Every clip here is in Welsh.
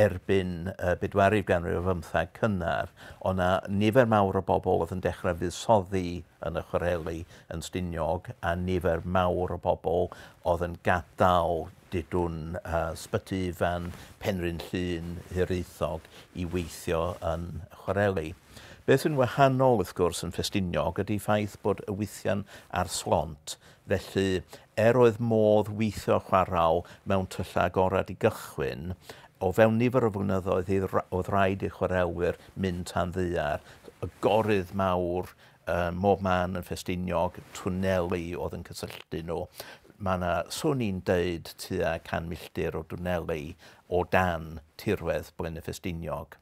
Erbyn y bedwaredd ganrif ar bymtheg cynnar, o' 'na nifer mawr o bobl oedd yn dechrau fuddsoddi yn y chwareli yn Stiniog, a nifer mawr o bobl oedd yn gadael dudwn Sbyty Ifan, Penrhyn Llŷn, Hiraethog i weithio yn y chwareli. Beth sy'n wahanol, wrth gwrs, yn Ffestiniog ydy ffaith bod y wythian ar slont, felly er oedd modd weithio chwarel mewn tyllau agored i gychwyn, o fewn nifer o flynyddoedd oedd rhaid i chwarelwyr mynd tan ddaear. Y gorydd mawr ym mhob man yn Ffestiniog, twneli oedd yn cysylltu nhw. Mae yna, swn i'n deud, tua 100 milltir o dwneli o dan tirwedd Blaenau Ffestiniog.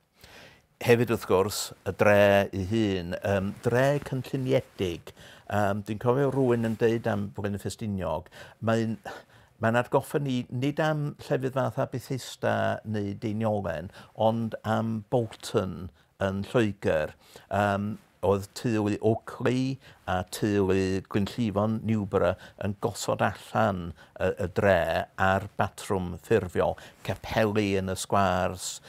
Hefyd, wrth gwrs, y dre ei hun, dre cynlluniedig. Dwi'n cofio rhywun yn deud am Blaenau Ffestiniog, mae'n atgoffa ni nid am llefydd fatha Bethesda neu Deiniolen, ond am Bolton yn Lloegr. Oedd teulu Oakley a teulu Glynllifon Newborough yn gosod allan y dre ar batrwm ffurfiol, capeli yn y sgwârs,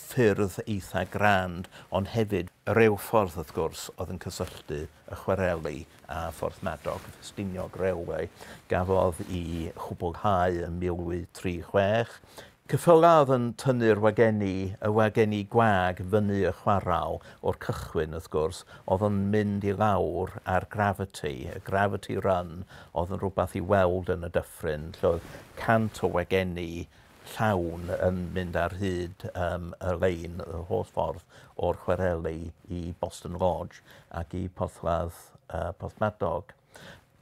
ffyrdd eitha grand, ond hefyd y reilffordd wrth gwrs oedd yn cysylltu y chwareli a Phorthmadog, y Ffestiniog Railway, gafodd ei chwblhau yn 1836. Ceffylau oedd yn tynnu'r wagenni, y wagenni gwag, fyny y chwarel o'r cychwyn, wrth gwrs, oedd yn mynd i lawr ar gravity, y gravity run oedd yn rhywbeth i weld yn y dyffryn, lle oedd 100 o wagenni llawn yn mynd ar hyd y lein, y holl ffordd o'r chwareli i Boston Lodge ac i Porthladd Porthmadog.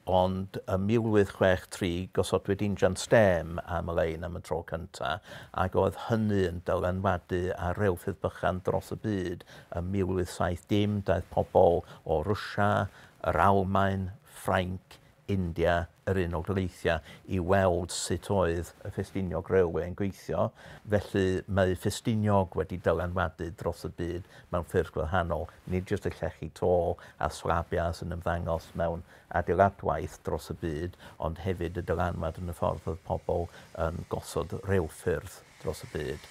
Ond ym 1863 gosodwyd injan stêm am y lein am y tro cyntaf, ac oedd hynny yn dylanwadu ar reilffyrdd bychan dros y byd. Ym 1870 daeth pobl o Rwsia, yr Almaen, Ffrainc, India, yr Unol Daleithiau i weld sut oedd y Ffestiniog Railway yn gweithio. Felly mae Ffestiniog wedi dylanwadu dros y byd mewn ffyrdd gwahanol, nid jyst y llechi to a slabiau sy'n ymddangos mewn adeiladwaith dros y byd, ond hefyd y dylanwad yn y ffordd oedd pobl yn gosod reilffyrdd dros y byd.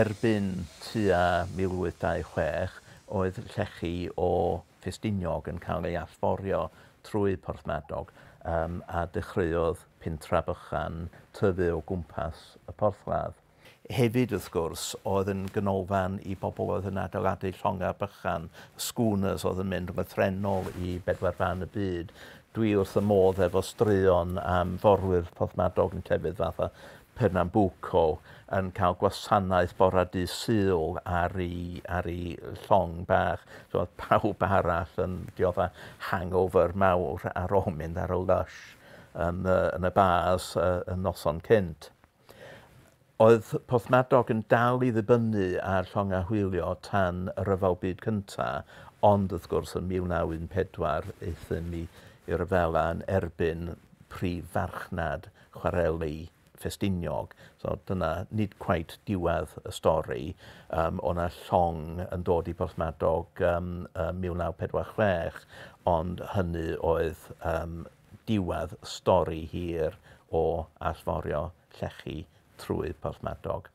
Erbyn tua 1826 oedd llechi o Ffestiniog yn cael ei allforio trwy Porthmadog a dechreuodd pentra bychan tyfu o gwmpas y porthladd. Hefyd, wrth gwrs, oedd yn ganolfan i bobl oedd yn adeiladu llongau bychan, schooners oedd yn mynd lythrennol i bedwar ban y byd. Dwi wrth y modd efo straeon am forwyr Porthmadog yn llefydd fatha Pernambuco yn cael gwasanaeth bore dydd Sul ar ei llong bach. So oedd pawb arall yn diodda hangover mawr ar ôl mynd ar y lush yn y bars y noson cynt. Oedd Porthmadog yn dal i ddibynnu ar llongau hwylio tan y Rhyfel Byd Cyntaf, ond wrth gwrs yn 1914 aethum i ryfela yn erbyn prif farchnad chwareli Ffestiniog. So dyna nid cweit diwedd y stori. O 'na llong yn dod i Porthmadog 1946, ond hynny oedd diwedd stori hir o allforio llechi trwy Porthmadog.